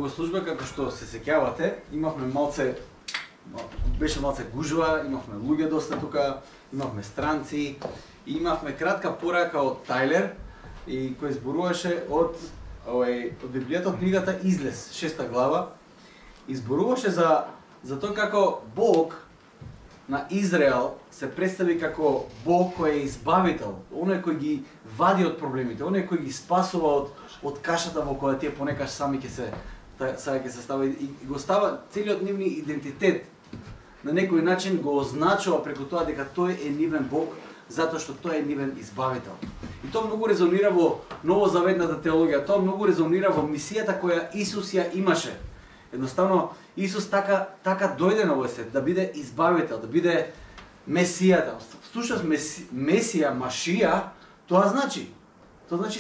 богослужба, како што се сеќавате, имавме беше малце гужва, имавме луѓе доста тука, имавме странци, и имавме кратка порака од Тајлер, и кој зборуваше од Библијата, од книгата Излез, 6 глава, и зборуваше за тоа како Бог на Израел се представи како Бог кој е избавител, оној кој ги вади од проблемите, оној кој ги спасува од кашата во која тие понекаш сами ќе се става и го става целиот нивни идентитет на некој начин го означува преку тоа дека тој е нивен Бог, затоа што тој е нивен избавител. И тоа многу резонира во новозаветната теологија, тоа многу резонира во мисијата која Исус ја имаше. Едноставно Исус така дојде на овој свет да биде избавител, да биде Месијата. Всушност Месија, Машија, тоа значи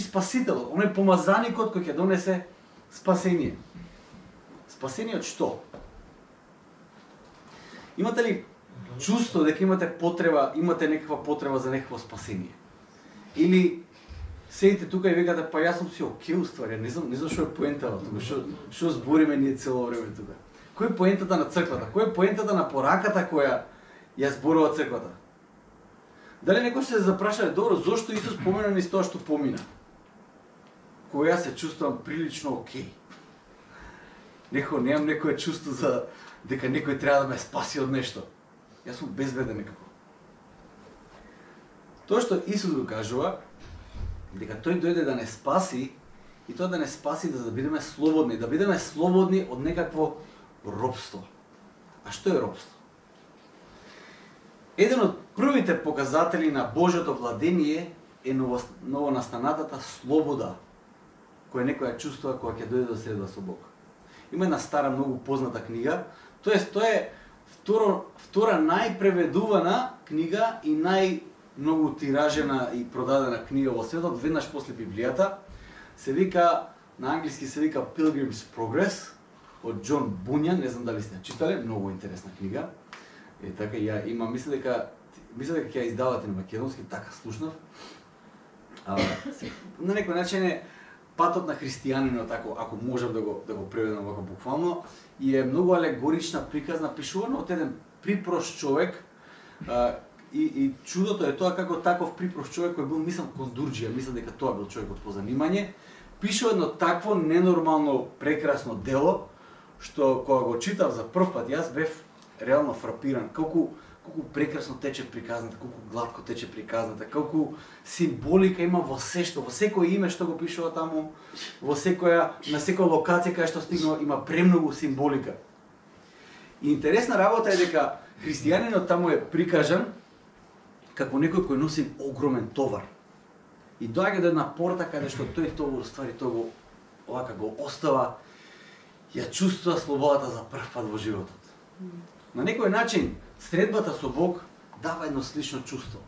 спасител, оној помазаникот кој ќе донесе спасение. Спасение од што? Имате ли чувство дека имате некаква потреба за некакво спасение? Или седите тука и викате, па јас сум си окей уствари, не знам што е поентата тука, што збориме ние цело време тука. Кој е поентата на црквата? Кој е поентата на пораката која ја зборува црквата? Дали некој ще се запраша, добро, зошто Исус помина низ тоа што помина? Кога јас се чувствувам прилично окей. Немам некое чувство за дека некој треба да ме спаси од нешто. Јас сум безбеден некако. Тоа што Исус го кажува, дека тој дојде да не спаси, и тоа да не спаси да бидеме слободни од некакво робство. А што е робство? Еден од првите показатели на Божјото владение е новонастанатата слобода, која некој ја чувствува кога ќе дојде да средба со Бог. Има една стара, многу позната книга, тоа е втора најпреведувана книга и најмногу тиражена и продадена книга во светот, веднаш после Библијата, се вика, на англиски се вика Pilgrim's Progress, од Џон Буњан, не знам дали сте читале, многу интересна книга. Така ја има, мисля дека ќе ја издавате на македонски, така слушнав. На некој начин е патот на христијанинот, ако можам да го преведам вака буквално, и е многу алегорична приказна, пишувана од еден припрост човек, и чудото е тоа како таков припрост човек кој бил, мислам, кондурџија, мислам дека тоа бил човекот по занимање, пишува едно такво ненормално прекрасно дело, што кога го читав за прв пат, јас бев реално фрапиран, колку прекрасно тече приказната, колку гладко тече приказната, колку символика има во секој име што го пишува таму, на секоја локација кај што стигнува има премногу символика. И интересна работа е дека христијанинот таму е прикажан како некој кој носи огромен товар. И доаѓа до една порта каде што тој го остава, ја чувствува слободата за прв пат во животот. На некој начин, средбата со Бог дава едно слично чувство.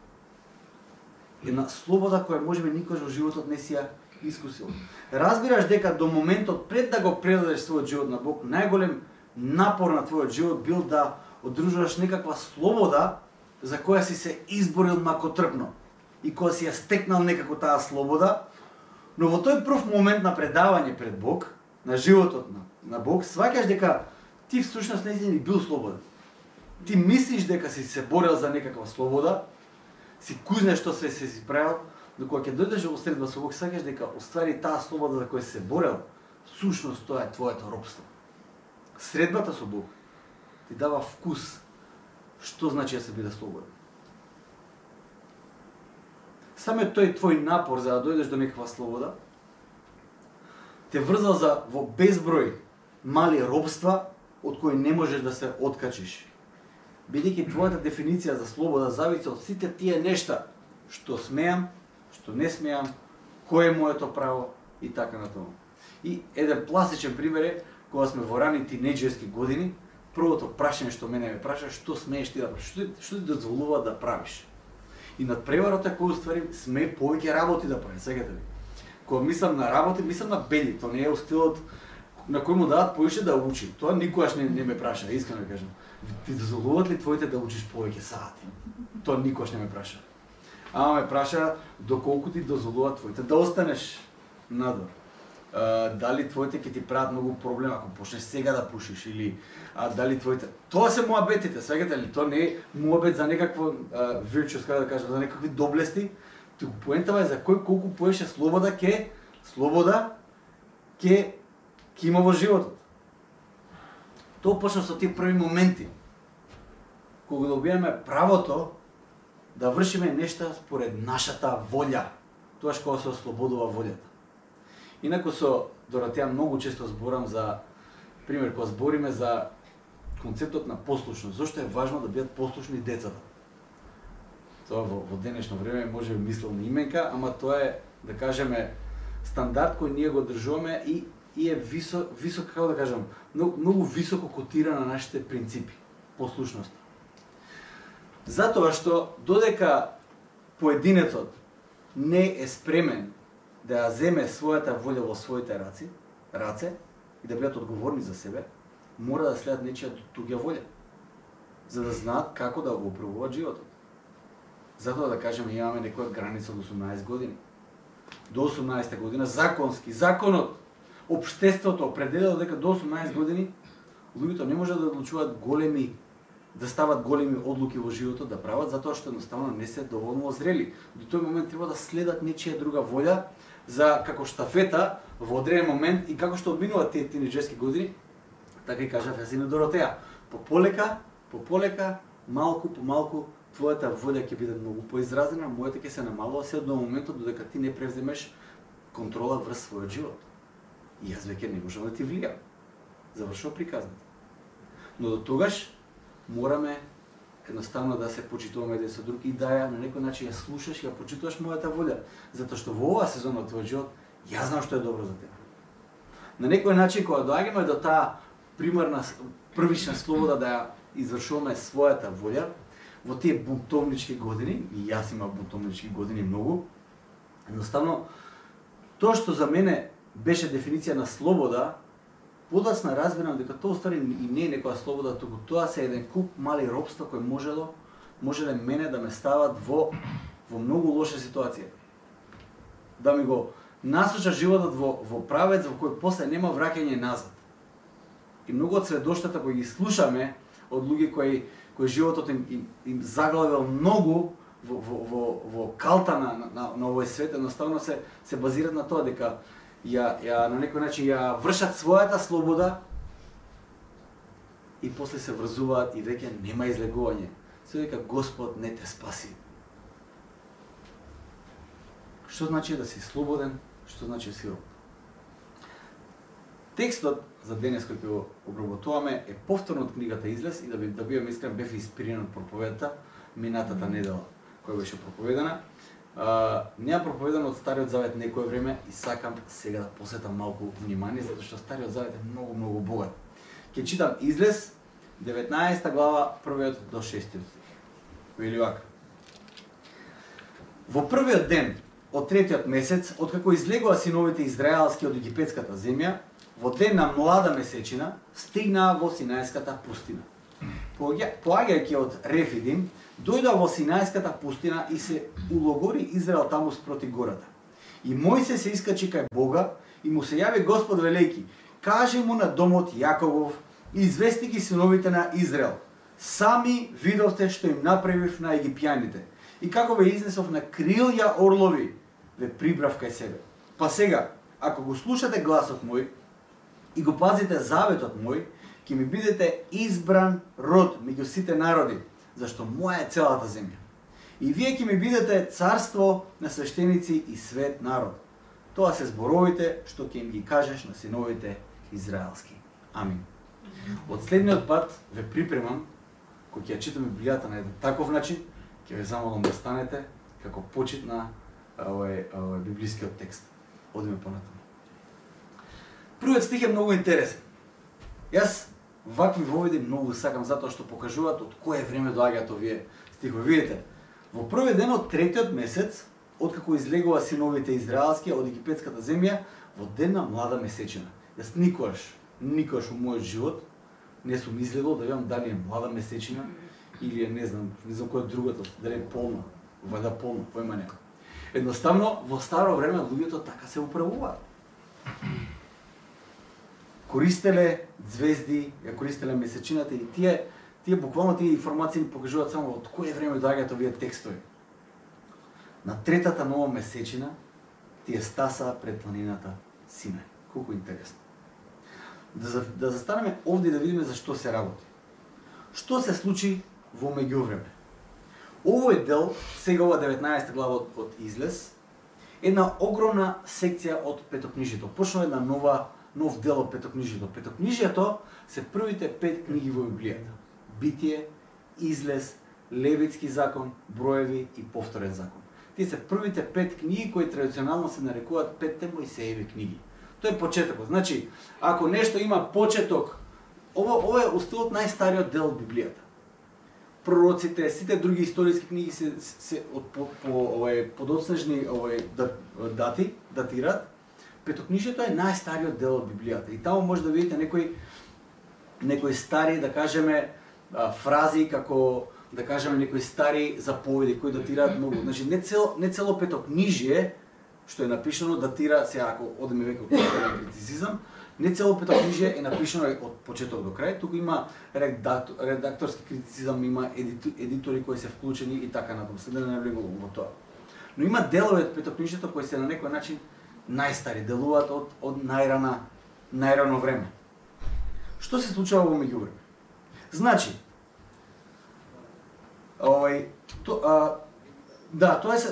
Една слобода која можеби никош во животот не си ја искусил. Разбираш дека до моментот пред да го предадеш својот живот на Бог, најголем напор на твојот живот бил да одржуваш некаква слобода за која си се изборил макотрпно и која си ја стекнал некако таа слобода, но во тој прв момент на предавање пред Бог, на животот на Бог, сваќаш дека ти всушност не си бил слободен. Ти мислиш дека си се борел за некаква слобода, си кузнеш што све си правил, но кога ќе дојдеш во средба со Бог, сваќаш дека оствари таа слобода за која си се борел, всушност тоа е твоето робство. Средбата со Бог ти дава вкус што значи да се биде слободен. Самиот тој твој напор за да дојдеш до некаква слобода те врзал во безброј мали робства од кои не можеш да се откачиш. Бидејќи твојата дефиниција за слобода зависи од сите тие нешта што смеам, што не смеам, кој е моето право и така натаму. И еден пластичен пример е кога сме во рани тинеџерски години, првото прашање што мене ме праша, што смееш ти да правиш, што ти дозволува да правиш. И надпреварот е кој уствари смее повеќе работи да прави, сеќате ли? Кога мислам на работи, мислам на бели, тоа не е стилот на кој му дадат поише да учи. Тоа никогаш не ме праша, искрено да кажам. Ти дозволуват ли твоите да учиш повеќе сати? Тоа никогаш не ме праша. Ама ме праша доколку ти дозволуват твоите да останеш надвор. дали твоите ќе ти прават многу проблем ако почнеш сега да пушиш или дали твоите. Тоа се муабетите, свегате ли? Тоа не е муабет за некакво virtuous, како да кажам, за некакви доблести. Туку поентава е за кој колку поеше слобода ќе има во животот. Тоа почна со тие први моменти кога добиваме правото да вршиме нешта според нашата волја. Тоаш кога се ослободува волјата. Инаку со Доротеја многу често зборам за пример кога збориме за концептот на послушност. Зошто е важно да бидат послушни децата? Тоа во денешно време може би мисловна именка, ама тоа е, да кажеме, стандард кој ние го држуваме и е висок, како да кажам, многу високо котира на нашите принципи, послушност. Затоа што додека поединецот не е спремен да ја земе својата волја во своите раце и да бидат одговорни за себе, мора да следат нечија туѓа волја, за да знаат како да го управуваат животот. Затоа да кажеме имаме некоја граница од 18 години. До 18 година законски, законот, општеството определило дека до 18 години луѓето не може да одлучуваат да стават големи одлуки во животот, да прават, затоа што едноставно не се доволно озрели. До тој момент треба да следат нечија друга волја за како штафета во одреден момент и како што одминуваат тие тинеџерски години, така и кажав јас и на Доротеја. По полека, малку по малку, твојата волја ќе биде многу поизразена, мојата ќе се намалува се до моментот додека ти не превземеш контрола врз својот живот. И јас веќе не можам да ти влијам. Завршува приказната. Но до тогаш мораме едноставно да се почитуваме еден со друг и да ја на некој начин ја слушаш и ја почитуваш мојата волја, затоа што во оваа сезона од твојот живот јас знам што е добро за тебе. На некој начин кога доаѓаме до таа примарна првична слобода да ја извршуваме својата волја во тие бунтовнички години, и јас имам бунтовнички години многу, едноставно тоа што за мене беше дефиниција на слобода, подоцна разбирам дека тоа устари и не е некоја слобода, туку тоа се еден куп мали робства кои можеле мене да ме стават во многу лоша ситуација. Да ми го насоча животот во правец во кој после нема враќање назад. И многу од сведоштата кои ги слушаме од луѓе кои животот им заглавил многу во калта на овој свет, едноставно се базираат на тоа дека ја на некој начин ја вршат својата слобода и после се врзуваат и веќе нема излегување. Се дека Господ не те спаси. Што значи да си слободен? Што значи да си роб? Текстот за денес кој го обработуваме е повторно од книгата Излез и да бидам искрен, бев инспириран од проповедата минатата недела која беше проповедана. Неа проповедано од Стариот Завет некое време и сакам сега да посветам малку внимание, затоа што Стариот Завет е многу богат. Ќе читам Излез, 19 глава, 1 до 6 стих. Вели вака. Во првиот ден од третиот месец, откако излегоа синовите израелски од египетската земја, во ден на млада месечина, стигнаа во Синајската пустина. Поаѓајќи од Рефидим, дојдоа во Синајската пустина и се улогори Израел таму спроти гората. И Мојсе се искачи кај Бога и му се јави Господ велејки: кажи му на домот Јаковов и извести ги синовите на Израел: сами видовте што им направив на египјаните и како ве изнесов на крилја орлови, ве прибрав кај себе. Па сега, ако го слушате гласот мој и го пазите заветот мој, ќе ми бидете избран род меѓу сите народи, зашто моја е целата земја. И вие ќе ми бидете царство на свештеници и свет народ. Тоа се зборовите што ќе им ги кажеш на синовите израелски. Амин. Од следниот пат ве припремам, кога ќе ја читаме Библијата на еден таков начин, ќе ве замолам да станете како почит на овој библискиот текст. Одиме понатаму. Првиот стих е многу интересен. Јас вакви воведи многу сакам затоа што покажуваат од кое време доаѓаат овие стихови. Видите, во првиот ден од третиот месец, откако излегува синовите израелски од египетската земја, во ден на млада месечина. Јас никогаш во мојот живот не сум излегол да видам дали е млада месечина или е не знам кој другото, дали е полна, вајда полна, појма нема. Едноставно во старо време луѓето така се управуваат. користеле звезди, ја користеле месечината и тие буквално тие информации ни покажуваат само од кое време доаѓаат овие текстови. На третата нова месечина тие стаса пред планината Синај. Колку интересно. Да застанеме овде и да видиме за што се работи. Што се случи во меѓувреме? Овој дел, сега ова 19 глава од Излез, една огромна секција од Петокнижието. Почнува една нов дел од Петокнижието. Петокнижието се првите 5 книги во Библијата. Битие, Излез, Левитски закон, Броеви и Повторен закон. Тие се првите 5 книги кои традиционално се нарекуваат 5-те Мојсееви книги. Тоа е почетокот. Значи, ако нешто има почеток, ова е устилот најстариот дел од Библијата. Пророците, сите други историски книги се подоцнежни дати, датираат. Петокнижието е најстариот дел од Библијата. И таму може да видите некои стари, да кажеме, фрази, како, да кажеме, некои стари заповеди кои датираат многу. Значи, не цело Петокнижие, што е напишано, датира, сега ако одеме веќе од критицизам, не цело Петокнижие е напишано од почеток до крај, туку има редакторски критицизам, има едитори кои се вклучени и така натаму. Се да не влегувам во тоа. Но има делови од Петокнижието кои се на некој начин најстари, делуваат од најрано време. Што се случува во меѓувреме? Значи, тоа е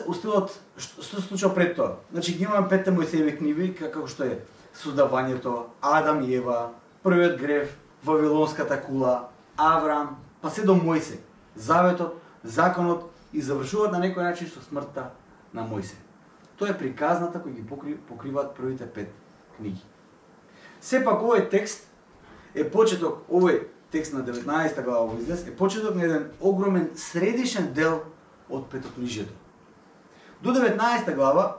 устилот, што се случува пред тоа. Значи, ги имаме 5-те Мојсееви книги, како што е создавањето, Адам и Ева, првиот грев, Вавилонската кула, Аврам, па се до Мојсе, Заветот, Законот и завршуваат на некој начин со смртта на Мојсе. Тоа е приказната кој ги покриваат првите 5 книги. Сепак овој текст е почеток, овој текст на 19 глава во Излез е почеток на еден огромен средишен дел од Петокнижието. До 19 глава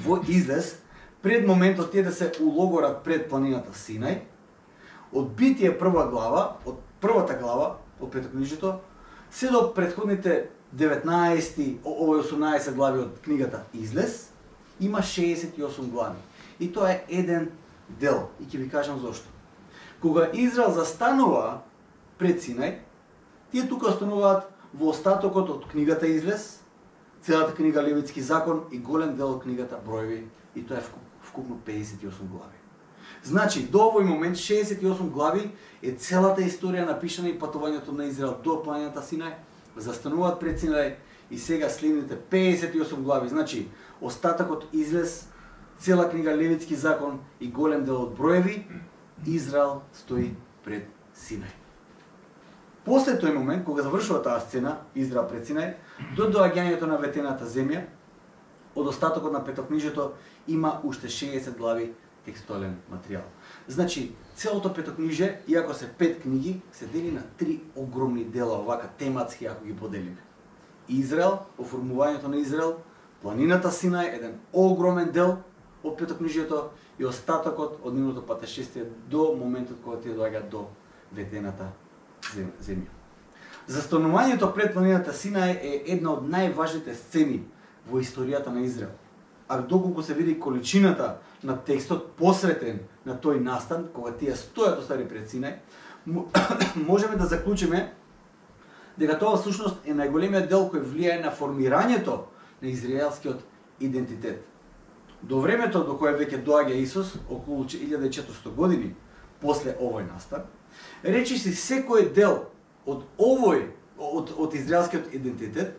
во Излез, пред моментот тие да се улогорат пред планината Синај, од Битие првата глава од Петокнижието, се до претходните 18 глави од книгата Излез, има 68 глави. И тоа е еден дел. И ќе ви кажам зошто. Кога Израел застанува пред Синај, тие тука остануваат во остатокот од книгата Излез, целата книга Левитски закон и голем дел од книгата Броеви, и тоа е вкупно 58 глави. Значи, до овој момент 68 глави е целата историја напишана и патувањето на Израел до планината Синај, застануваат пред Синај и сега следните 58 глави, значи остатокот Излез, цела книга Левитски закон и голем дел од Броеви, Израел стои пред Синај. После тој момент, кога завршува таа сцена, Израел пред Синај, до доаѓањето на ветената земја, од остатокот на Петокнижието има уште 60 глави текстуален материјал. Значи, целото Петокнижие, иако се 5 книги, се дели на 3 огромни дела, овака тематски, ако ги поделиме. Израел, оформувањето на Израел, планината Синај, еден огромен дел од Петокнижието и остатокот од нивното патешествие до моментот кога тие доаѓаат до ветената земја. Застанувањето пред планината Синај е една од најважните сцени во историјата на Израел. А доколку се види количината на текстот посветен на тој настан, кога тие стојат остари пред Синај, можеме да заклучиме дека тоа всушност е најголемиот дел кој влијае на формирањето на израелскиот идентитет. До времето до кое веќе доаѓа Исус, околу 1400 години после овој настан, речиси секој дел од израелскиот идентитет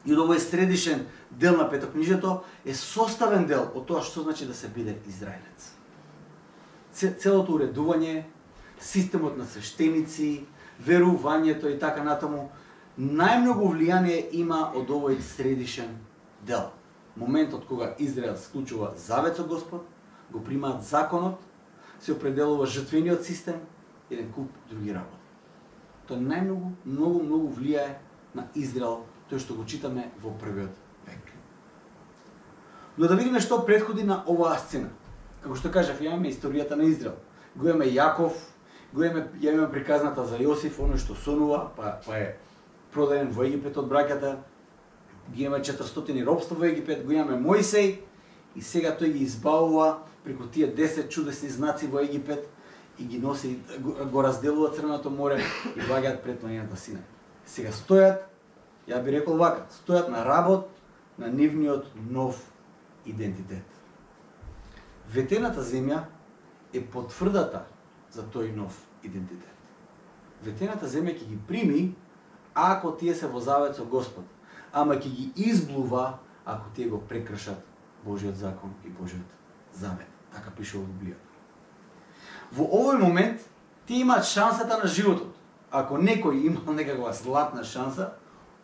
и од овој средишен дел на Петокнижието е составен дел од тоа што значи да се биде израелец. Целото уредување, системот на свештеници, верувањето и така натаму, најмногу влијание има од овој средишен дел. Моментот кога Израел склучува завет со Господ, го примаат законот, се определува жртвениот систем и еден куп други работи. Тоа многу влијае на Израел, тој што го читаме во првиот век. Но да видиме што претходи на оваа сцена. Како што кажав, имаме историјата на Израел. Го имаме Јаков, го имаме приказната за Јосиф, оној што сонува, па е продаден во Египет од браќата, ги имаме 400 робство во Египет, го имаме Мојсей и сега тој ги избавува преку тие 10 чудесни знаци во Египет и ги носи, го разделува Црвеното море и ваѓаат пред планината Синај. Сега стојат, ја би рекол вака, стојат на работ на нивниот нов идентитет. Ветената земја е потврдата за тој нов идентитет. Ветената земја ќе ги прими ако тие се во завет со Господ, ама ќе ги изблува ако тие го прекршат Божиот закон и Божиот завет. Така пише во Библијата. Во овој момент тие имаат шансата на животот. Ако некој имал некаква златна шанса,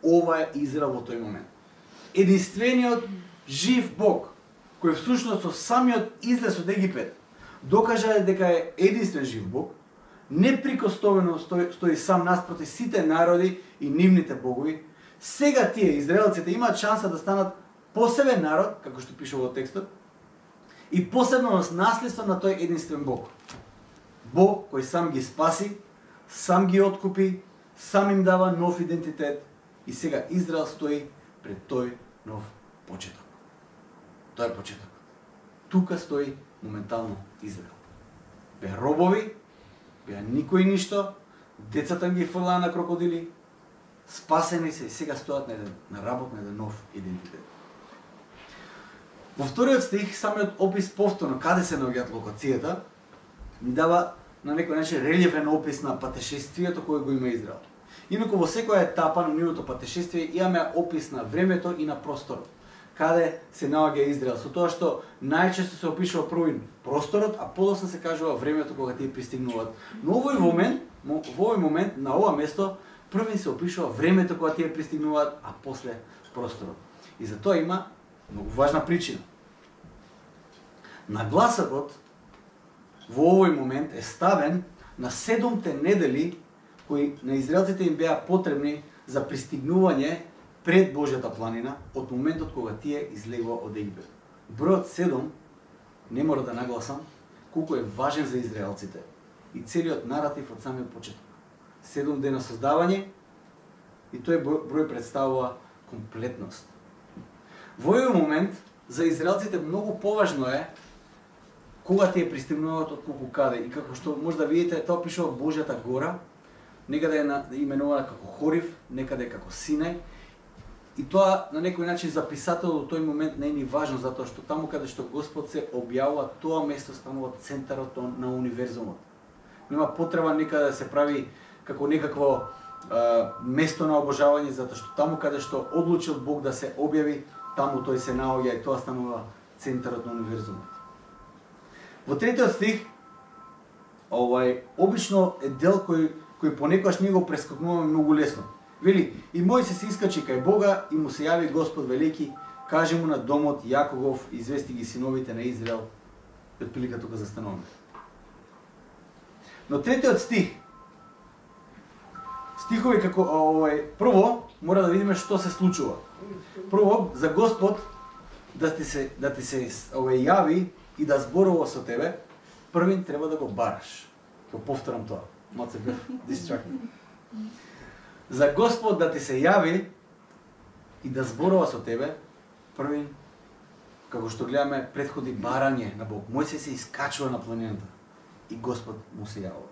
ова е Израел во тој момент. Единствениот жив Бог, кој всушност со самиот излез од Египет докажа дека е единствен жив Бог, неприкосновено стои сам наспроти сите народи и нивните богови. Сега тие израелците имаат шанса да станат посебен народ, како што пише во текстот, и посебно наследство на тој единствен Бог. Бог кој сам ги спаси, сам ги откупи, сам им дава нов идентитет и сега Израел стои пред тој нов почеток. Тоа е почеток. Тука стои моментално Израел. Беа робови, беа никој ништо, децата ги фрлаа на крокодили, спасени се и сега стојат на работ на еден нов идентитет. Во вториот стих, самиот опис повторно каде се наоѓаат локацијата, ни дава на некој начин релјефен опис на патешествието кое го има Израел. Инаку во секоја етапа на нивното патешествие имаме опис на времето и на просторот. Каде се наоѓа Израел, со тоа што најчесто се опишува прво просторот, а подоцна се кажува времето кога тие пристигнуваат. Но во овој момент на ова место први се опишува времето кога тие пристигнуваат, а после просторот. И за тоа има многу важна причина. Нагласокот во овој момент е ставен на 7 недели кои на израелците им беа потребни за пристигнување пред Божјата планина од моментот кога тие излегува од Египет. Бројот 7 не мора да нагласам колку е важен за израелците и целиот наратив од самиот почеток. 7 дена создавање и тој број представува комплетност. Во овој момент за израелците многу поважно е кога тие пристигнуваат од колку каде и како што може да видите, тоа пишува Божјата гора, некаде е именувана како Хорив, некаде како Синај. И тоа на некој начин за писателот во тој момент не е ни важно, затоа што таму каде што Господ се објавува, тоа место станува центарот на универзумот. Нема потреба некаде да се прави како некакво место на обожавање, затоа што таму каде што одлучил Бог да се објави, таму тој се наоѓа и тоа станува центарот на универзумот. Во третиот стих, обично е дел кој понекогаш ние го прескокнуваме многу лесно. Вели, и Мојсе се искачи кај Бога и му се јави Господ велики, каже му на домот Јаковов, извести ги синовите на Израел. И отприлика тука застануваме. Но третиот стих, стихови како прво мора да видиме што се случува. Прво за Господ да ти се јави и да зборува со тебе, првин треба да го бараш. Ќе повторам тоа. Малце бев дистрактен. За Господ да ти се јави и да зборува со тебе, првин, како што гледаме, претходи барање на Бог. Мојсе се искачува на планината и Господ му се јавува.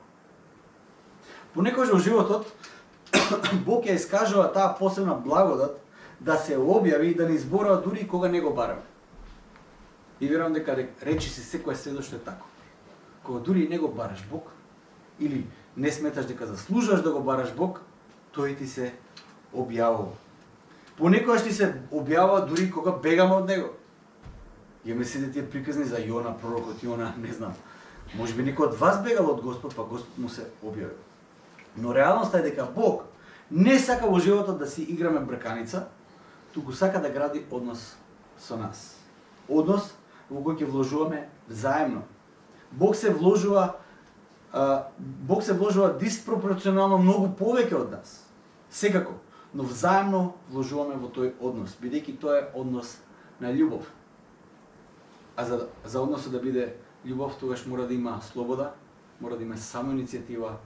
Понекогаш во животот Бог ја искажува таа посебна благодат да се објави и да ни зборува дури кога не го бараме. И верувам дека речи си секој следоштво е тако. Кога дури не го бараш Бог или не сметаш дека заслужуваш да го бараш Бог, тој ти се објавува. Понекогаш ти се објавува дури кога бегаме од него. Имаме сите тие приказни за Јона, пророкот Јона, не знам. Може би некој од вас бегал од Господ, па Господ му се објавил. Но реалноста е дека Бог не сака во животот да си играме брканица, туку сака да гради однос со нас. Однос во кој ќе вложуваме взаемно. Бог се вложува диспропорционално многу повеќе од нас. Секако, но взаемно вложуваме во тој однос, бидејќи тоа е однос на љубов. А за односот да биде љубов, тогаш мора да има слобода, мора да има самоиницијатива,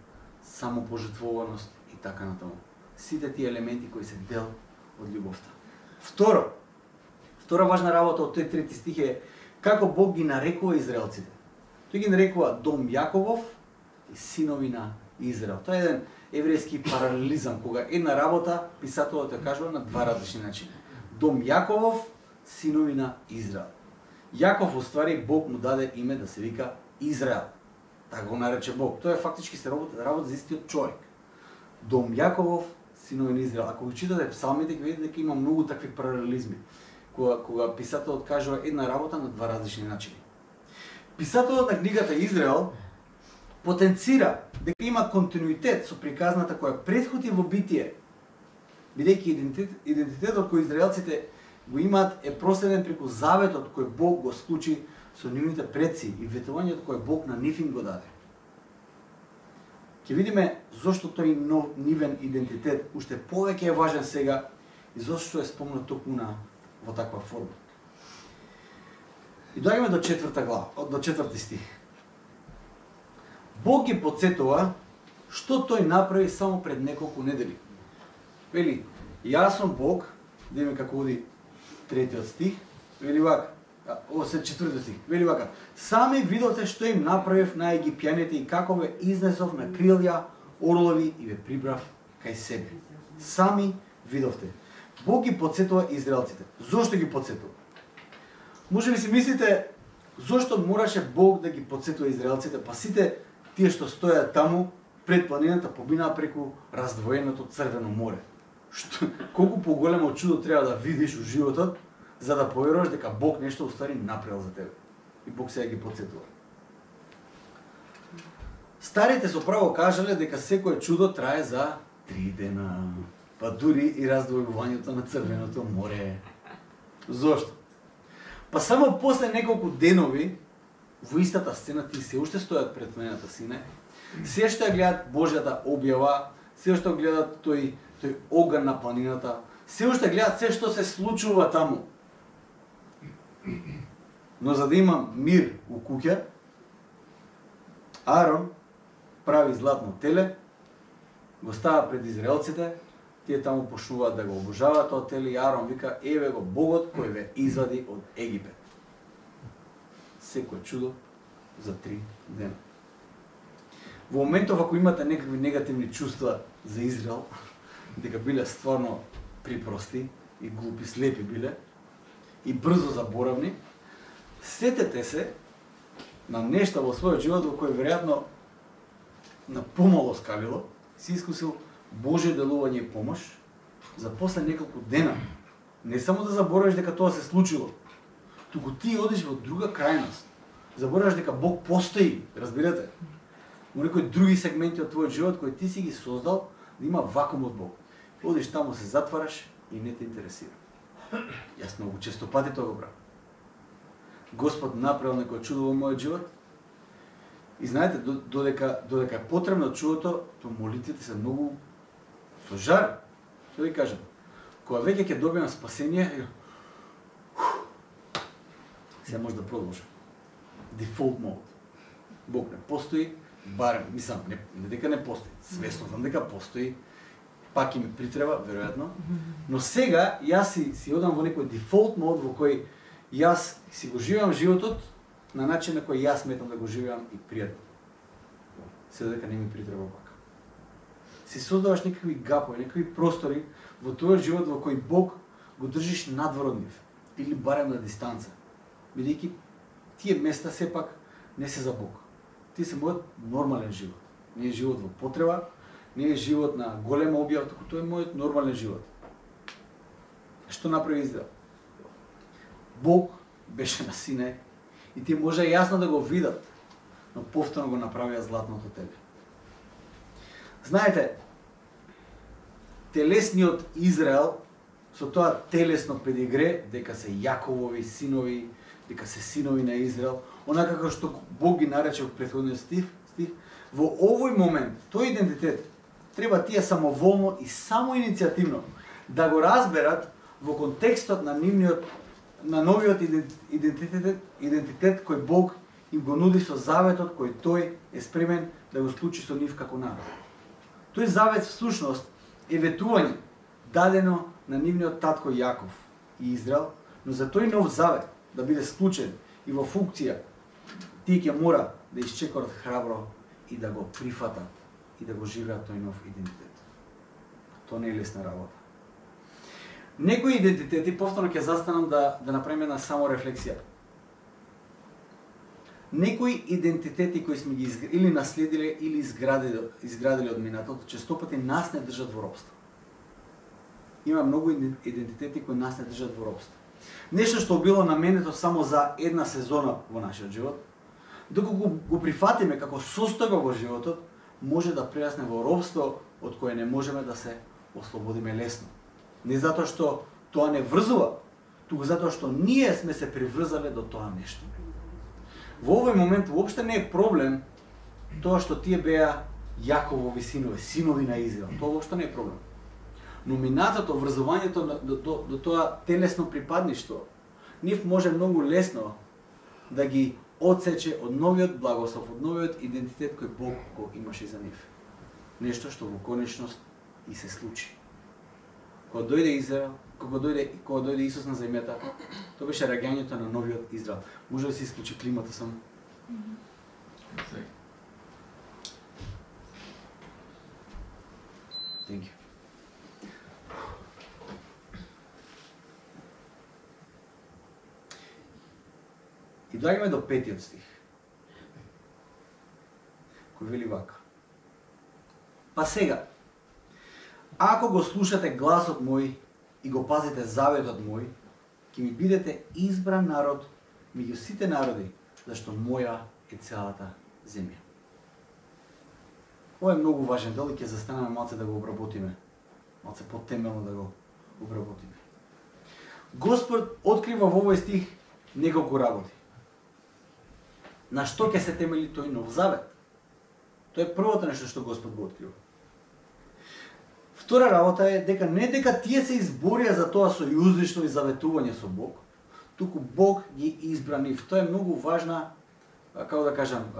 самопожртвуваност и така натаму. Сите тие елементи кои се дел од љубовта. Втора важна работа од тој трети стих е како Бог ги нарекува израелците. Тој ги нарекува дом Јаковов и синови на Израел. Тоа е еден еврејски паралелизам, кога една работа писателот ја кажува на два различни начини. Дом Јаковов, синови на Израел. Јаков уствари Бог му даде име да се вика Израел. Така го нарече Бог. Тоа е фактички се работа за истиот човек. Дом Јаковов, синови на Израел. Ако го читате псалмите, ќе видите дека има многу такви паралелизми. Кога писателот кажува една работа на два различни начини. Писателот на книгата Израел потенцира дека има континуитет со приказната која претходи во Битие, бидејќи идентитетот кој израелците го имаат е проследен преку заветот кој Бог го склучи со нивните предци и ветувањето кој Бог на нив им го даде. Ќе видиме зошто тој нивен идентитет уште повеќе е важен сега и зошто е спомнат токму во таква форма. И доаѓаме до 4 глава, до 4 стих. Бог ги подсетува што тој направи само пред неколку недели. Вели, јас сум Бог, да име како оди 3 стих, вели вака, се 4 стих, вели вака, сами видовте што им направив на египјаните и како ве изнесов на крилја, орлови и ве прибрав кај себе. Сами видовте. Бог ги подсетува израелците. Зошто ги подсетува? Може би си мислите, зошто мораше Бог да ги подсетува израелците, па сите тие што стојат таму пред планината побинаа преку раздвоеното Црвено море. Колку поголемо чудо треба да видиш во животот, за да поверуваш дека Бог нешто уствари направил за тебе. И Бог сега ги подсетува. Старите со право кажале дека секое чудо трае за 3 дена, па дури и раздвојувањето на Црвеното море. Зошто? Па само после неколку денови во истата сцена тие се уште стојат пред планината Синај, се што гледат Божјата објава, се што гледат тој оган на планината, се уште гледат се што се случува таму. Но за да има мир у куќа, Арон прави златно теле, го става пред израелците, тие таму почнуваат да го обожаваат тоа теле и Арон вика, еве го Богот кој ве извади од Египет. Секој чудо за 3 дена. Во моментов ако имате некакви негативни чувства за Израел, дека биле стварно припрости и глупи, слепи биле и брзо заборавни, сетете се на нешта во својот живот во кој веројатно на помало скалило си искусил Божје делување и помош за после неколку дена. Не само да заборавиш дека тоа се случило, туку ти одиш во друга крајност. Забораваш дека Бог постои, разбирате? Во некои други сегменти од твојот живот кои ти си ги создал, да има вакуум од Бог. Одиш таму, се затвараш и не те интересира. Јас многу често пати тоа го правам. Господ направил некој чудо во мојот живот и знаете, додека е потребно чудото, то молитвите се многу со жар. Што ви кажам? Кога веќе ќе добиам спасение, сега може да продолжам. Default mode. Бог не постои, барем, мислам, не дека не постои, свесно знам дека постои, пак и ми притреба, веројатно, но сега јас си одам во некој default mode во кој јас си го живеам животот на начин на кој јас сметам да го живеам и пријатно. Се дека не ми притреба пак. Си создаваш некакви гапови, некакви простори во твојот живот во кој Бог го држиш надвор од нив, или барем на дистанца, бидејќи тие места сепак не се за Бог. Тие се мојот нормален живот. Не е живот во потреба, не е живот на голема објава, туку тоа е мојот нормален живот. Што направи Израел? Бог беше на Синај и тие може јасно да го видат, но повторно го направија златното теле. Знаете, телесниот Израел со тоа телесно педигре дека се Јаковови синови, дека се синови на Израел, онака како што Бог ги нарече во претходниот стих, во овој момент тој идентитет треба тие самоволно и самоиницијативно да го разберат во контекстот на новиот идентитет кој Бог им го нуди со заветот кој тој е спремен да го склучи со нив како народ. Тој завет всушност е ветување дадено на нивниот татко Јаков и Израел, но за тој нов завет да биде склучен и во функција, тие ќе мора да исчекорат храбро и да го прифатат и да го живеат тој нов идентитет. Тоа не е лесна работа. Некои идентитети, повторно ќе застанам да направиме една само рефлексија. Некои идентитети кои сме ги или наследиле или изградиле од минатото, честопати нас не држат во робство. Има многу идентитети кои нас не држат во робство. Нешто што било наменето само за една сезона во нашиот живот, доколку го прифатиме како состојба во животот, може да прерасне во робство од кое не можеме да се ослободиме лесно. Не затоа што тоа не врзува, туку затоа што ние сме се приврзале до тоа нешто. Во овој момент воопште не е проблем тоа што тие беа Јаковови синови, синови на Израел. Тоа воопште не е проблем. Но минатото, врзувањето до тоа телесно припадништво, нив може многу лесно да ги одсече од новиот благослов, од новиот идентитет кој Бог го имаше за нив. Нешто што во конечност и се случи. Кога дојде Израел, кога дојде Исус на земјата, тоа беше раѓањето на новиот Израел. Може да се исклучи климата само? Thank you. И доаѓаме до 5-тиот стих, кој вели вака. Па сега, ако го слушате гласот мој и го пазите заветот мој, ќе ми бидете избран народ меѓу сите народи, зашто моја е целата земја. Ова е многу важен дел и ќе застанеме малце да го обработиме. Малце потемелно да го обработиме. Господ открива во овој стих неколку работи. На што ќе се темели тој нов завет? Тоа е првото нешто што Господ го открива. Втора работа е дека не дека тие се изборија за тоа сојузничко и заветување со Бог, туку Бог ги избра нив. Тоа е многу важна, како да кажам,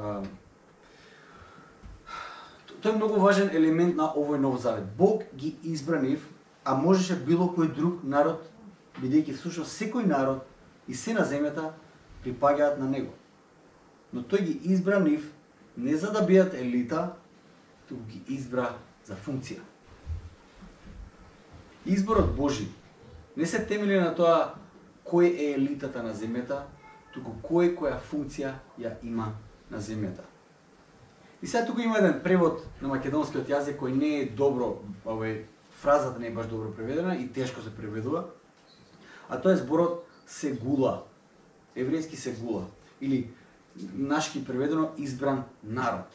тоа е многу важен елемент на овој нов завет. Бог ги избра нив, а можеше било кој друг народ, бидејќи всушност секој народ и се на земјата припаѓаат на него. Но тој ги избра нив не за да бидат елита, туку ги избра за функција. Изборот Божи не се темели на тоа кој е елитата на земјата, туку која функција ја има на земјата. И сега туку има еден превод на македонскиот јазик кој не е добро, фразата не е баш добро преведена и тешко се преведува, а тоа е зборот сегула, еврејски сегула, или нашки преведено избран народ.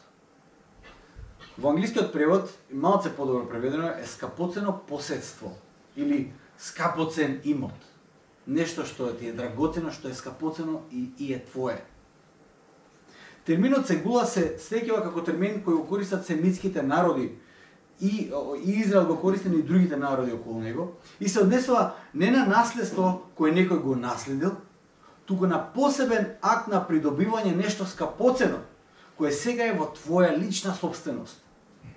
Во англискиот превод, малце подобро преведено, е скапоцено поседство или скапоцен имот. Нешто што ти е драгоцено, што е скапоцено и е твое. Терминот сегула се среќава како термин кој го користат семитските народи и Израел го користи и другите народи околу него и се однесува не на наследство кој некој го наследил, туку на посебен акт на придобивање нешто скапоцено, кое сега е во твоја лична собственост.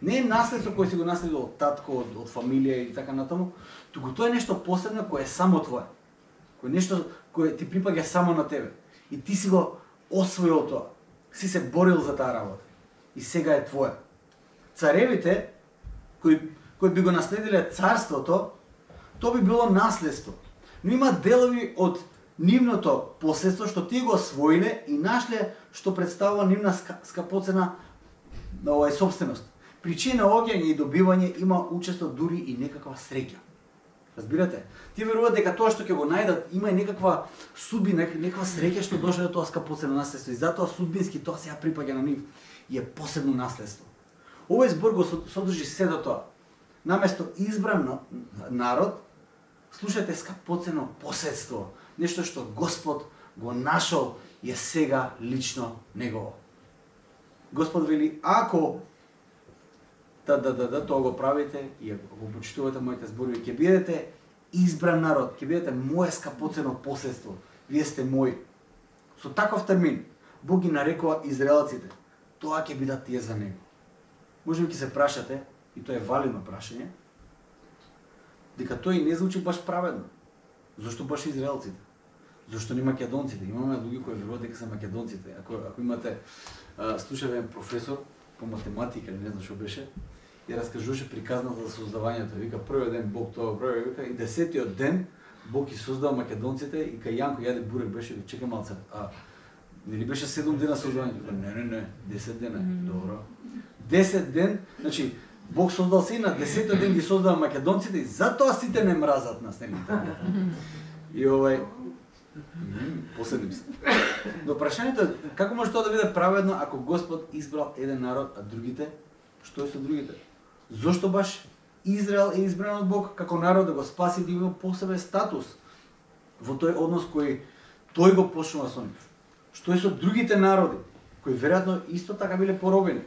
Не е наследство кој си го наследил од татко, од фамилија и така натаму, туку тоа е нешто посебно кое е само твое. Кое нешто кое ти припаѓа само на тебе. И ти си го освоил тоа. Си се борил за таа работа. И сега е твое. Царевите кои би го наследиле царството, тоа би било наследство. Но има делови од нивното поседство што тие го освоиле и нашле што представува нивна скапоцена собственост. При чие наоѓање и добивање има учество дури и некаква среќа. Разбирате? Тие веруваат дека тоа што ќе го најдат има и некаква судбина, некаква среќа што дошле до тоа скапоцено наследство и затоа судбински тоа сега припаѓа на нив и е посебно наследство. Овој збор го содржи сето тоа. Наместо избран народ, слушате скапоцено поседство, нешто што Господ го нашол и е сега лично негово. Господ вели, ако тоа го правите и го почитувате моите зборови, ќе бидете избран народ, ќе бидете мое скапоцено поседство. Вие сте мои. Со таков термин Бог ги нарекува израелците. Тоа ќе бидат тие за него. Може би ќе се прашате, и тоа е валидно прашање, дека тој не звучи баш праведно. Зошто баш израелците? Зошто не македонците? Имаме луѓе кои веруваат дека се македонците. Ако имате слушаве професор по математика или не знам што беше, и раскажуваше приказната за создавањето. Вика првиот ден Бог тоа прави, вика и 10-тиот ден Бог ги создава македонците и кај Јанко јаде бурек беше, чека малце. Нели беше 7 дена создавањето? Не, 10 дена. Добро. 10 ден, значи Бог создал се и на 10-тиот ден ги создава македонците и затоа сите не мразат нас, нели? И последим се. Но прашањето е како може тоа да биде праведно ако Господ избрал еден народ, а другите? Што е со другите? Зошто баш Израел е избран од Бог како народ да го спаси, да има посебен статус во тој однос кој тој го почнува со нив? Што е со другите народи кои веројатно исто така биле поробени?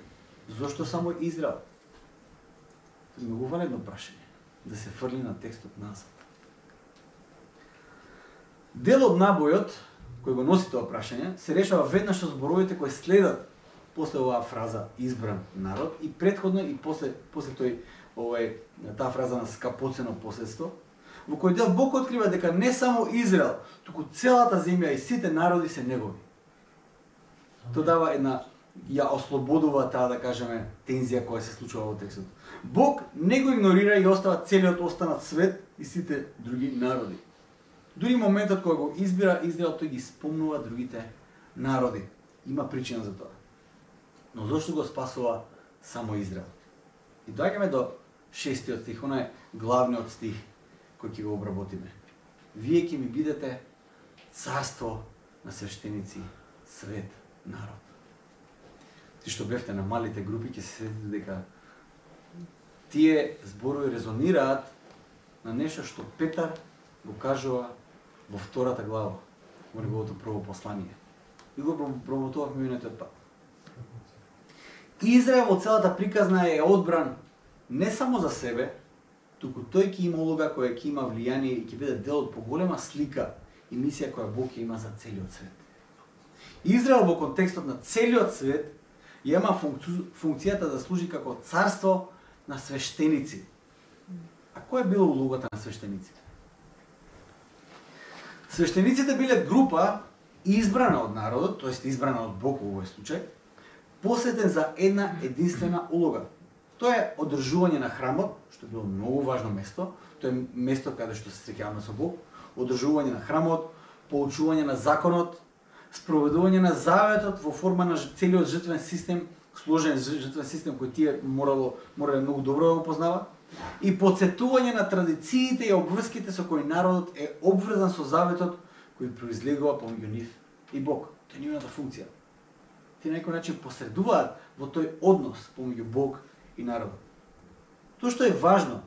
Зошто само Израел? Тоа е многу валидно прашање да се фрли на текстот назад. Дел од набојот кој го носи тоа прашање се решава веднаш со зборовите кои следат после оваа фраза избран народ и претходно и после таа фраза на скапоцено последство, во кој дел Бог открива дека не само Израел, туку целата земја и сите народи се негови. Тоа дава ја ослободува таа, да кажеме, тензија која се случува во текстот. Бог не го игнорира и остава целиот останат свет и сите други народи. Дури моментот кога го избира Израел, тој ги спомнува другите народи. Има причина за тоа. Но зошто го спасува само Израел? И доаѓаме до 6-тиот стих, онај главниот стих кој ќе го обработиме. Вие ќе ми бидете царство на свештеници, свет, народ. Ти што бевте на малите групи ќе се сетите дека тие зборови резонираат на нешто што Петар го кажува во 2-та глава, во неговото прво послание. И го промотувавме минатиот пат. Израел во целата приказна е одбран не само за себе, туку тој ќе има улога која ќе има влијание и ќе биде дел од поголема слика и мисија која Бог ќе има за целиот свет. Израел во контекстот на целиот свет ја има функцијата да служи како царство на свештеници. А која е била улогата на свештениците? Свештениците биле група избрана од народот, тоест избрана од Бог во овој случај, посветен за една единствена улога. Тоа е одржување на храмот, што било многу важно место, тоа е место каде што се среќаваме со Бог, одржување на храмот, поучување на законот, спроведување на заветот во форма на целиот жртвен систем, сложен жртвен систем кој тие морале многу добро да го познават, и потсетување на традициите и обврските со кои народот е обврзан со заветот кој произлегува помеѓу нив и Бог. Тоа е нивната функција. Ти на некој начин посредуваат во тој однос помеѓу Бог и народот. Тоа што е важно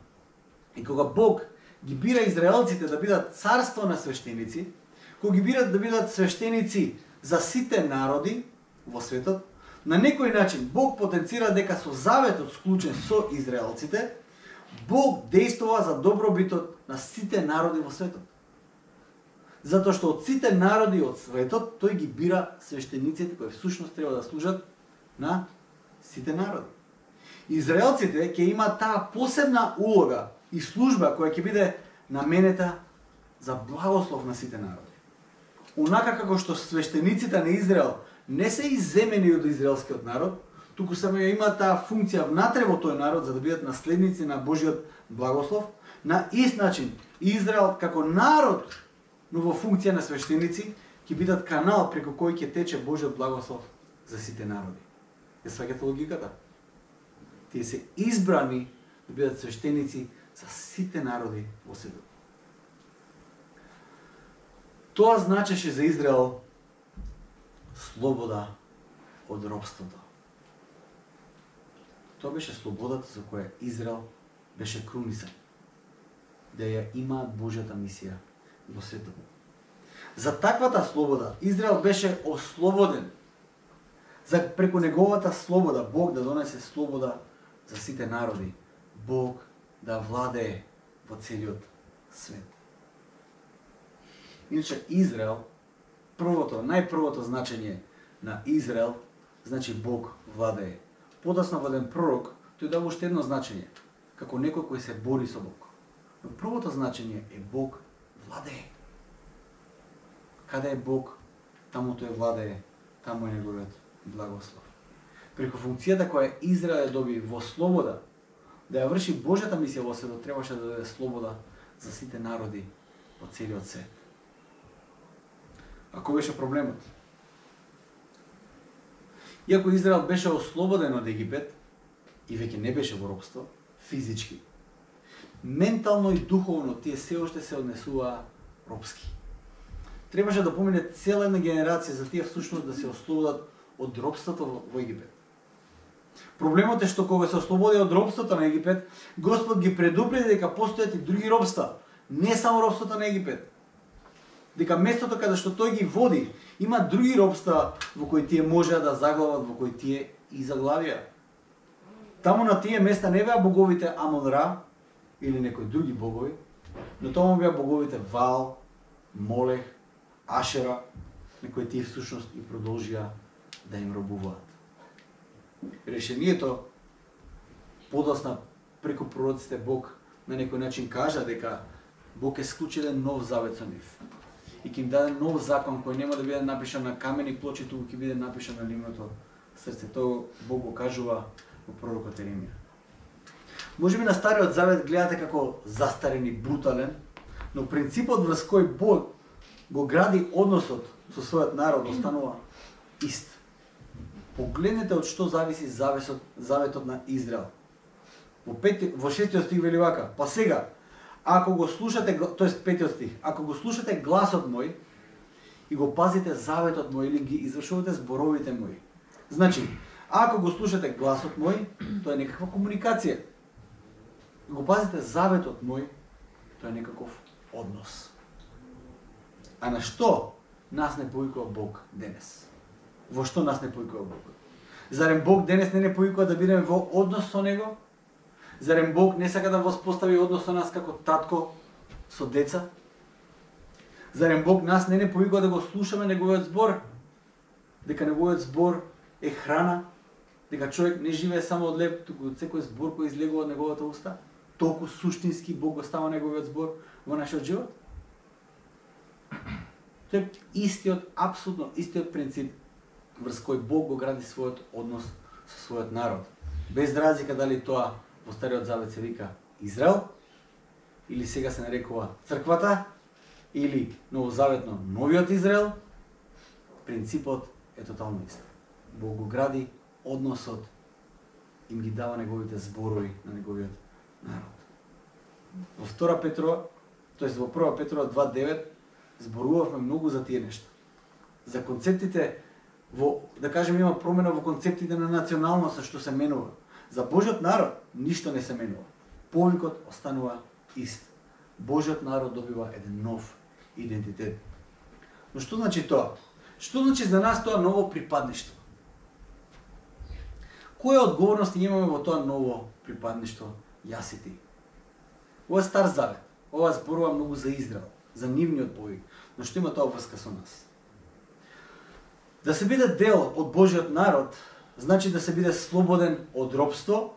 е кога Бог ги бира израелците да бидат царство на свештеници, кога ги бират да бидат свештеници за сите народи во светот, на некој начин Бог потенцира дека со заветот склучен со израелците, Бог действува за добробитот на сите народи во светот. Затоа што од сите народи од светот, тој ги бира свештениците кои всушност треба да служат на сите народи. Израелците ќе имаат таа посебна улога и служба која ќе биде наменета за благослов на сите народи. Онака како што свештениците на Израел не се изземени од израелскиот народ, туку само ја имаат таа функција внатре во тој народ за да бидат наследници на Божиот благослов, на ист начин Израел како народ, но во функција на свештеници, ќе бидат канал преку кој ќе тече Божиот благослов за сите народи. Ја сваќате логиката? Тие се избрани да бидат свештеници за сите народи во светот. Тоа значеше за Израел слобода од робството. Тоа беше слободата за која Израел беше крунисан. Да ја имаат Божјата мисија во светот. За таквата слобода Израел беше ослободен. За преку неговата слобода Бог да донесе слобода за сите народи. Бог да владее во целиот свет. Иначе Израел, најпрвото значење на Израел, значи Бог владее. Подоцна во еден пророк, тој дава уште едно значење, како некој кој се бори со Бог. Но првото значење е Бог владее. Каде е Бог, таму тој владее, таму е неговиот благослов. Преку функцијата која Израел доби во слобода, да ја врши Божјата мисија во светот, требаше да даде слобода за сите народи од целиот свет. А кој беше проблемот? Иако Израел беше ослободен од Египет и веќе не беше во робство, физички, ментално и духовно тие се уште се однесуваа робски. Требаше да помине цела една генерација за тие всушност да се ослободат од робството во Египет. Проблемот е што кога се ослободи од робството на Египет, Господ ги предупреди дека постојат и други робства, не само робството на Египет. Дека местото каде што тој ги води, има други робства во кои тие можеа да заглават, во кои тие и заглавија. Таму на тие места не беа боговите Амон-Ра или некои други богови, но таму беа боговите Ваал, Молех, Ашера, на кои тие всушност и продолжија да им робуваат. Решението подосна преку пророците Бог на некој начин кажа дека Бог е склучил нов завет со нив и ќе им даде нов закон кој нема да биде напишан на камени плочи, туку ќе биде напишан на нивното срце. Тоа Бог го кажува во пророкот Еремија. Можеби на Стариот завет гледате како застарен и брутален, но принципот врз кој Бог го гради односот со својот народ останува ист. Погледнете од што зависи заветот на Израел. Во 6 стих вели вака: па сега, ако го слушате, тоест 5 стих, ако го слушате гласот мој и го пазите заветот мој или ги извршувате зборовите мои. Значи, ако го слушате гласот мој, тоа е некаква комуникација. Го пазите заветот мој, тоа е некаков однос. А на што нас не повикува Бог денес? Во што нас не повикува Бог? Зарем Бог денес не повикува да бидеме во однос со Него? Зарем Бог не сака да воспостави однос со нас како татко со деца? Зарем Бог нас не повикува да го слушаме Неговиот збор? Дека Неговиот збор е храна? Дека човек не живее само од леб, туку од секој збор кој излегува од Неговата уста? Толку суштински Бог го става Неговиот збор во нашиот живот? Тоа е истиот, апсолутно истиот принцип врз кој Бог го гради својот однос со својот народ. Без разлика дали тоа во Стариот завет се вика Израел, или сега се нарекува црквата, или новозаветно новиот Израел, принципот е тотално ист. Бог го гради односот, им ги дава неговите зборови на неговиот народ. Во 2 Петрова, тоест во 1 Петрова 2:9 зборувавме многу за тие нешта. За концептите да кажем, има промена во концептите на националноста што се менува. За Божјот народ ништо не се менува. Повикот останува ист. Божјот народ добива еден нов идентитет. Но што значи тоа? Што значи за нас тоа ново припадништво? Која одговорности имаме во тоа ново припадништво, јас и ти? Ова е Стар Завет. Ова зборува многу за Израел, за нивниот повик. Но што има тоа врска со нас? Да се биде дел од Божјиот народ, значи да се биде слободен од робство,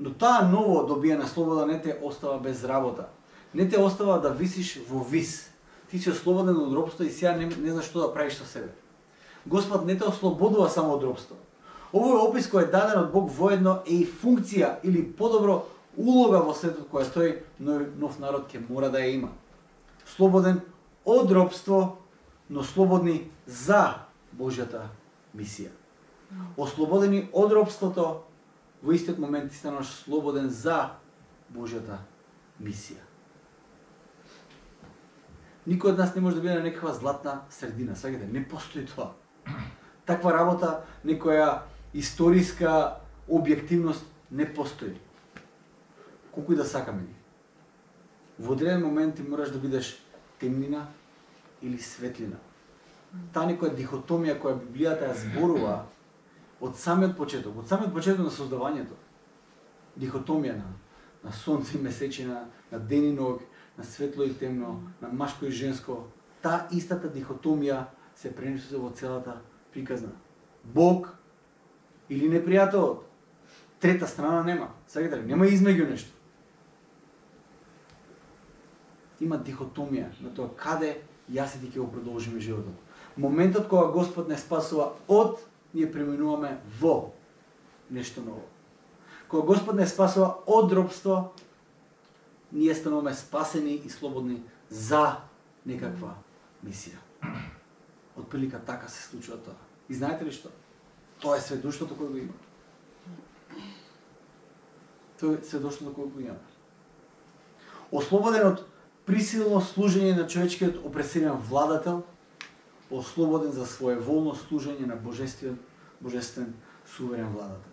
но таа ново добиена слобода не те остава без работа. Не те остава да висиш во вис. Ти си ослободен од робство и сега не знаеш што да правиш со себе. Господ не те ослободува само од робство. Овој опис кој е даден од Бог воедно е и функција или подобро улога во светот која стои нов народ ќе мора да ја има. Слободен од робство, но слободни за Божјата мисија. Ослободени од робството, во истиот момент ти станаш слободен за Божјата мисија. Никој од нас не може да биде на некаква златна средина, сваќате, не постои тоа. Таква работа, некоја историска објективност не постои. Колку и да сакаме ги. Во одреден момент ти мораш да бидеш темнина или светлина. Таа некоја дихотомија која Библијата ја зборува од самиот почеток на создавањето. Дихотомија на сонце и месечина, на ден и ног, на светло и темно, на машко и женско. Таа истата дихотомија се пренесува во целата приказна. Бог или непријателот. Трета страна нема. Сакате ли? Нема измеѓу нешто. Има дихотомија на тоа каде јас и ти ќе го продолжиме животот. Моментот кога Господ не спасува од, ние преминуваме во нешто ново. Кога Господ не спасува од робство, ние стануваме спасени и слободни за некаква мисија. Отприлика така се случува тоа. И знаете ли што? Тоа е сведоштвото кое го има. Тоа е сведоштвото кое го има. Ослободен од присилно служење на човечкиот опресивен владател, ослободен за своеволно служење на божествен суверен владател.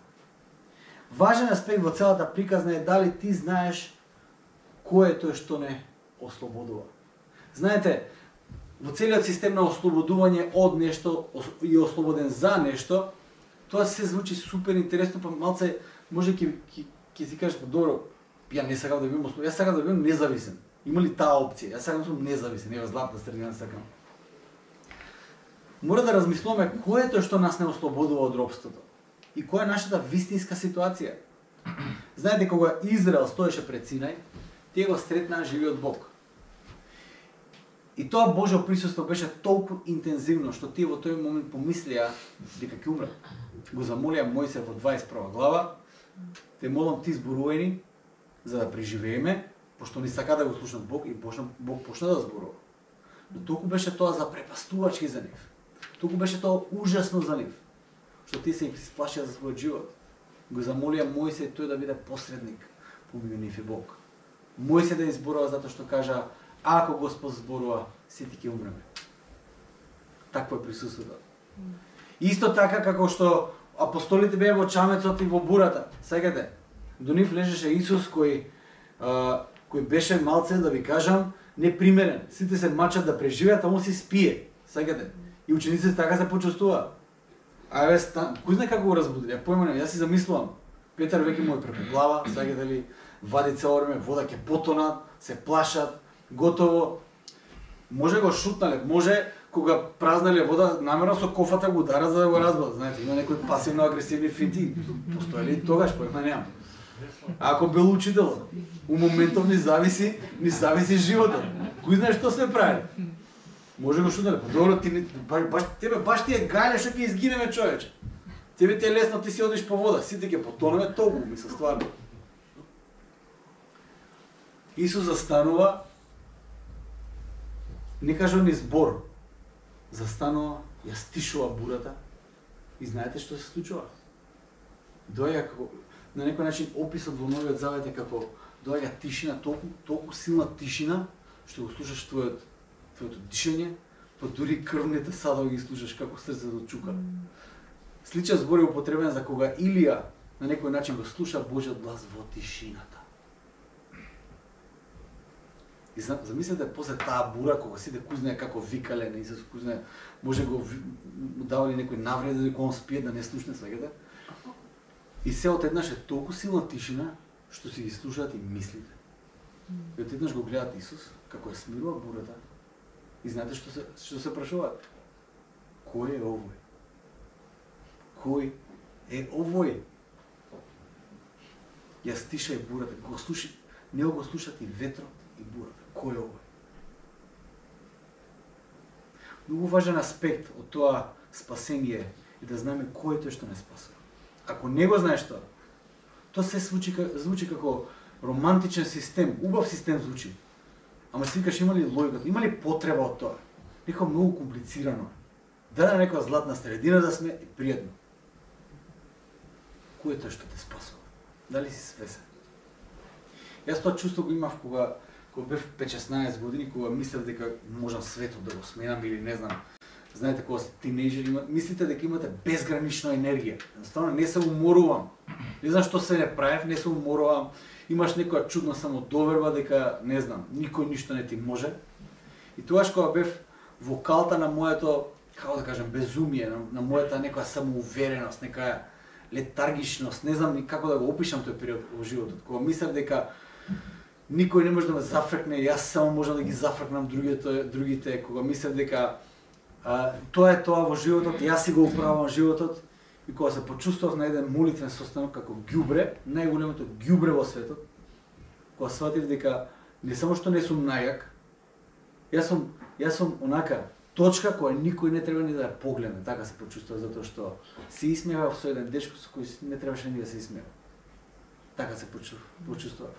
Важен аспект во целата приказна е дали ти знаеш кој е тој што не ослободува. Знаете, во целиот систем на ослободување од нешто и ослободен за нешто, тоа се звучи супер интересно, па малце може ќе си кажеш, добро, ја не сакам да бидам ослободен, јас сакам да бидам независен. Има ли таа опција? Јас сакам да сум независен, ева златна средина сакам. Мора да размислуваме кој е тој што нас не ослободува од робството и која е нашата вистинска ситуација. Знаете, кога Израел стоеше пред Синај, тие го сретнаа живиот Бог. И тоа Божјо присуство беше толку интензивно што тие во тој момент помислија дека ќе умрат. Го замолија Мојсе во 21 глава: те молам ти зборувај за да преживееме, пошто не сака да го слушнат Бог, и Бог почна да зборува. Но толку беше тоа запрепастувачки за нив. Толку беше тоа ужасно за нив, што тие се исплашија за својот живот. Го замолија Мојсе тој да биде посредник помеѓу нив и Бог. Мојсе да изборува затоа што кажа: ако Господ зборува, сите ќе умреме. Такво е присуството. Исто така како што апостолите беа во чамецот и во бурата. Сеќате, до нив лежеше Исус кој беше малце, да ви кажам, непримерен. Сите се мачат да преживеат, а он си спие. Сеќате. И учениците така се почувствува. Ајде, кој знае како го разбудили? Ја појманем, јас си замислувам. Петар веќе му е преку глава, сеќате ли, вади цело време, вода ќе потонат, се плашат, готово. Може го шутнале, може кога празнале вода, намерно со кофата го удара за да го разбудат. Знаете, има некои пасивно агресивни финти. Постои ли тогаш, појма немам. Ако бил учител, у моментов ни зависи животот. Кој знае што сме правили? Може го шутнале, добро, тебе баш ти е гајле што ќе изгинеме, човече. Тебе ти е лесно, ти си одиш по вода, сите ќе потонеме, толку мисля стварно. Исус застанува, не кажа ни збор, застанува, ја стишува бурата и знаете што се случува? Доаѓа како, на некој начин описот во Новиот Завет е како доаѓа тишина, толку силна тишина, што го слушаш твоето дишење, па дури крвните садови ги слушаш како срцето чука. Сличен збор е употребен за кога Илија на некој начин го слуша Божјиот глас во тишината. И замислете после таа бура, кога сите кој знае како викале на Исус, кој знае, може го давали некој навреди дека он спие да не слушне, свегате. И се одеднаш е толку силна тишина што си ги слушаат и мислите. И одеднаш го гледат Исус како ја смирува бурата. И знаете што се прашуваат? Кој е овој? Кој е овој? Ја стиша и бурата, не го слушат и ветрот и бурата. Кој е овој? Многу важен аспект од тоа спасение е да знаеме кој е тој што не спасува. Ако не го знаеш тоа, тоа се звучи како романтичен систем, убав систем звучи. Ама си викаш, има ли логика, има ли потреба од тоа? Некако многу комплицирано. Дали на некоја златна средина да сме и пријатно. Кој е тој што те спасува? Дали си свесен? Јас тоа чувство го имав кога бев 5-16 години, кога мислев дека можам светот да го сменам или не знам. Знаете, кога сте тинејџери, мислите дека имате безгранична енергија. Едноставно не се уморувам. Не знам што се не правев, не се уморувам. Имаш некоја чудна самодоверба дека, не знам, никој ништо не ти може. И тогаш кога бев во калта на моето, како да кажем, безумие, на мојата некоја самоувереност, некоја летаргичност, не знам ни како да го опишам тој период во животот. Кога мислев дека никој не може да ме зафркне, јас само можам да ги зафркнам другите, кога мислев дека тоа е тоа во животот, јас си го управувам животот, и кога се почувствував на еден молитвен состанок како ѓубре, најголемото ѓубре во светот, кога сватив дека не само што не сум најак, јас сум Јас сум онака точка која никој не треба ни да ја погледне, така се почувствува затоа што се исмева со еден дечко со кој не требаше ни да се исмева. Така се почувствува.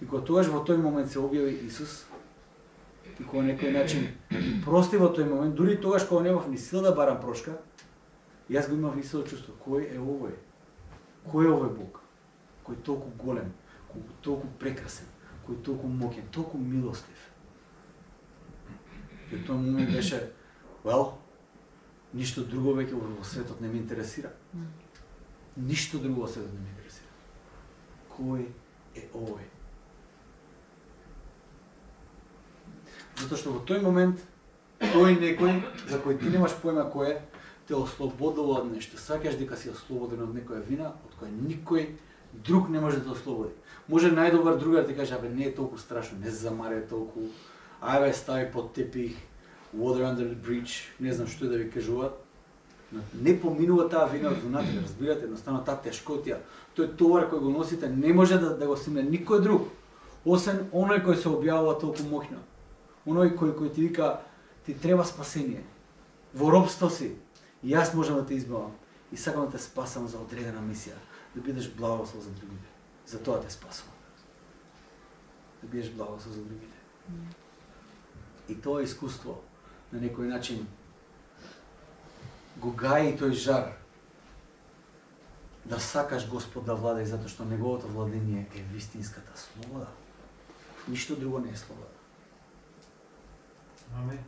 И кога тогаш во тој момент се објави Исус, и кога некој начин прости во тој момент, дури тогаш кога немав ни сила да барам прошка, јас го имав истото чувство. Кој е овој? Кој е овој Бог? Кој е толку голем, кој е толку прекрасен, кој е толку моќен, толку милостив. И тој момент беше, ништо друго веќе во светот не ме интересира. Ништо друго во светот не ме интересира. Кој е овој? Затоа што во тој момент, тој некој, за кој ти немаш појма кој е, те ослободува од нешто. Сакаш дека си ослободен од некоја вина, од која никој друг не може да те ослободи. Може најдобар другар да ти каже, абе не е толку страшно, не замаре толку, ајде стави под тепих, water under the bridge, не знам што да ви кажуваат. Но не поминува таа вина од внатре, разбирате, едноставно таа тешкотија, тој товар кој го носите не може да го симне никој друг, освен оној кој се објавува толку моќно. Оној кој ти вика, ти треба спасение. Во робство си, и јас можам да те избавам. И сакам да те спасам за одредена мисија, да бидеш благослов за другите. За тоа те спасувам. Да бидеш благослов за другите. И тоа искуство на некој начин го гаи тој жар да сакаш Господ да владе, затоа што неговото владење е вистинската слобода. Ништо друго не е слобода. Амин.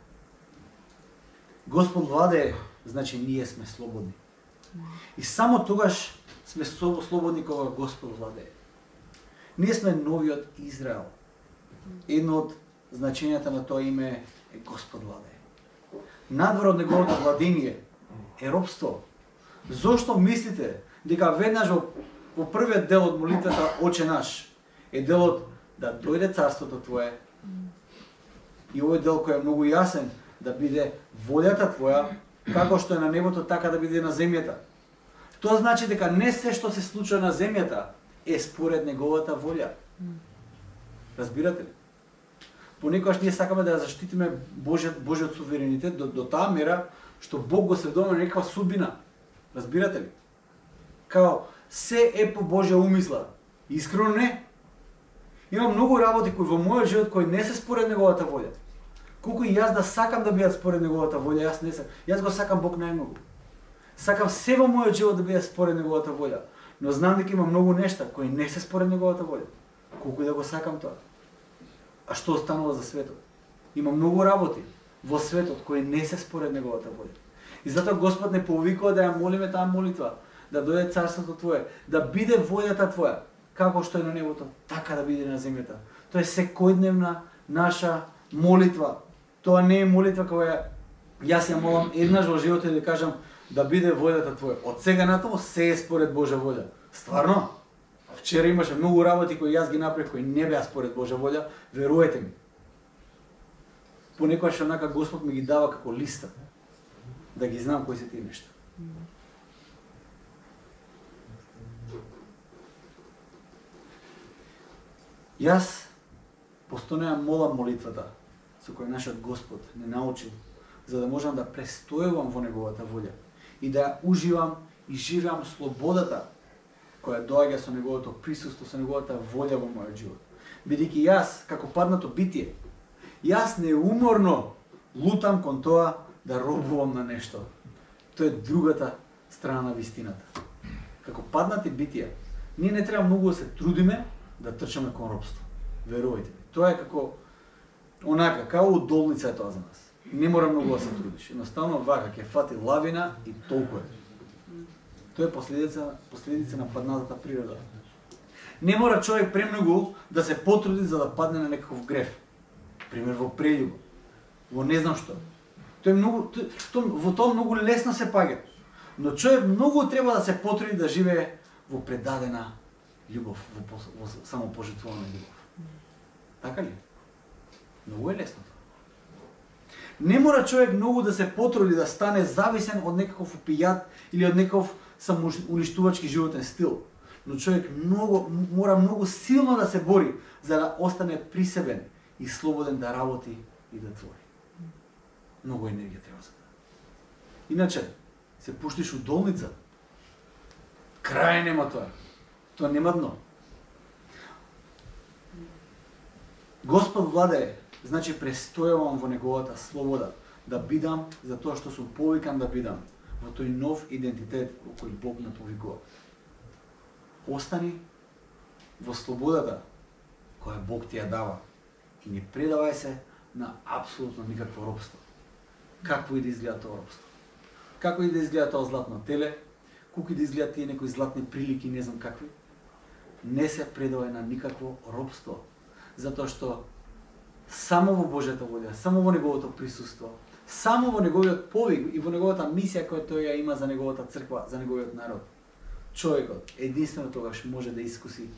Господ владее, значи ние сме слободни. И само тогаш сме слободни кога Господ владее. Ние сме новиот Израел. Едно од значењата на тоа име е Господ владее. Надвор од неговото владење е робство. Зошто мислите дека веднаш во првиот дел од молитвата Оче наш е делот да дојде царството Твое, и овој дел кој е многу јасен, да биде волјата Твоја, како што е на небото, така да биде на земјата. Тоа значи дека не се што се случува на земјата е според неговата волја. Разбирате ли? Понекогаш ние сакаме да ја заштитиме Божиот суверенитет до таа мера што Бог го следува на некаква судбина. Разбирате ли? Као се е по Божја умисла. Искрено не. Има многу работи кои во мојот живот кои не се според неговата волја. Колку и јас да сакам да бидат според неговата волја, јас не сакам. Јас го сакам Бог најмногу. Сакам се во мојот живот да бидат според неговата волја, но знам дека има многу нешта кои не се според неговата волја. Колку и да го сакам тоа. А што останува за светот? Има многу работи во светот кои не се според неговата волја. И затоа Господ не повикува да ја молиме таа молитва, да дојде царството Твое, да биде волјата Твоја, како што е на небото, така да биде на земјата. Тоа е секојдневна наша молитва. Тоа не е молитва која јас ја молам еднаш во животот и да кажам да биде волјата Твоја. Од сега натаму се е според Божја волја. Стварно? Вчера имаше многу работи кои јас ги направив кои не беа според Божја волја, веруете ми. Понекогаш онака Господ ми ги дава како листа, да ги знам кои се тие нешта. Јас постојано ја молам молитвата со која нашиот Господ не научил, за да можам да престојувам во неговата волја и да ја уживам и живеам слободата која доаѓа со неговото присуство, со неговата волја во мојот живот. Бидејќи јас, како паднато битие, јас неуморно лутам кон тоа да робувам на нешто. Тоа е другата страна на вистината. Како паднати битија, ние не треба многу да се трудиме да трчаме кон робство. Верувајте ми. Тоа е како онака, као удолница е тоа за нас. Не мора многу да се трудиш. Едноставно вака ќе фати лавина и толку е. Тоа е последица на паднатата природа. Не мора човек премногу да се потруди за да падне на некаков греф. Пример во прељуба, во не знам што. Тоа е многу во тоа многу лесно се паѓа. Но човек многу треба да се потруди да живее во предадена љубов, во самопожртвувана љубов. Така ли? Многу е лесно тоа. Не мора човек многу да се потруди да стане зависен од некаков опијат или од некаков самоуништувачки животен стил. Но човек мора многу силно да се бори за да остане присебен и слободен да работи и да твори. многу енергија треба за тоа. Иначе, се пуштиш у долница, крај нема тоа. Тоа нема дно. Господ владее, значи престојувам во неговата слобода, да бидам за тоа што сум повикан да бидам, во тој нов идентитет во кој Бог ме повикува. Остани во слободата која Бог ти ја дава и не предавај се на апсолутно никакво робство. Какво и да изгледа тоа робство. Како и да изгледа тоа златно теле, колку и да изгледа тие некои златни прилики, не знам какви, не се предавај на никакво робство, затоа што само во Божјата волја, само во неговото присуство, само во неговиот повик и во неговата мисија која тој ја има за неговата црква, за неговиот народ, човекот единствено тогаш може да искуси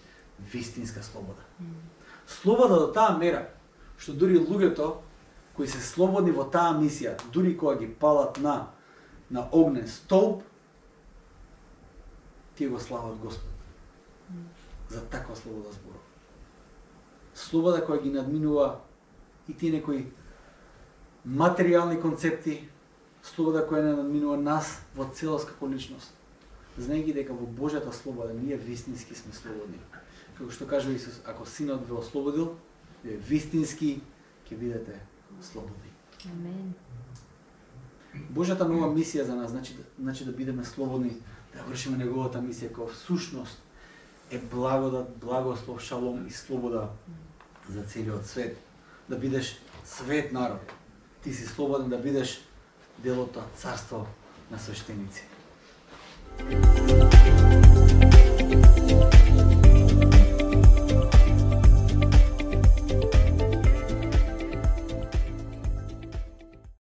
вистинска слобода. Слобода до таа мера што дури луѓето кои се слободни во таа мисија, дури кога ги палат на огнен столб, тие го слават Господ. За таква слобода зборува. Слобода која ги надминува и тие некои материјални концепти, слобода која не надминува нас во целост како личност. Знаејќи дека во Божјата слобода ние вистински сме слободни. Како што кажува Исус, ако Синот ве ослободил, вие вистински ќе бидете слободни. Амен. Божјата нова мисија за нас значи да бидеме слободни, да вршиме неговата мисија која всушност е благодат, благослов, шалом и слобода за целиот свет. Да бидеш свет народ. Ти си слободен да бидеш дел од тоа царство на свештеници.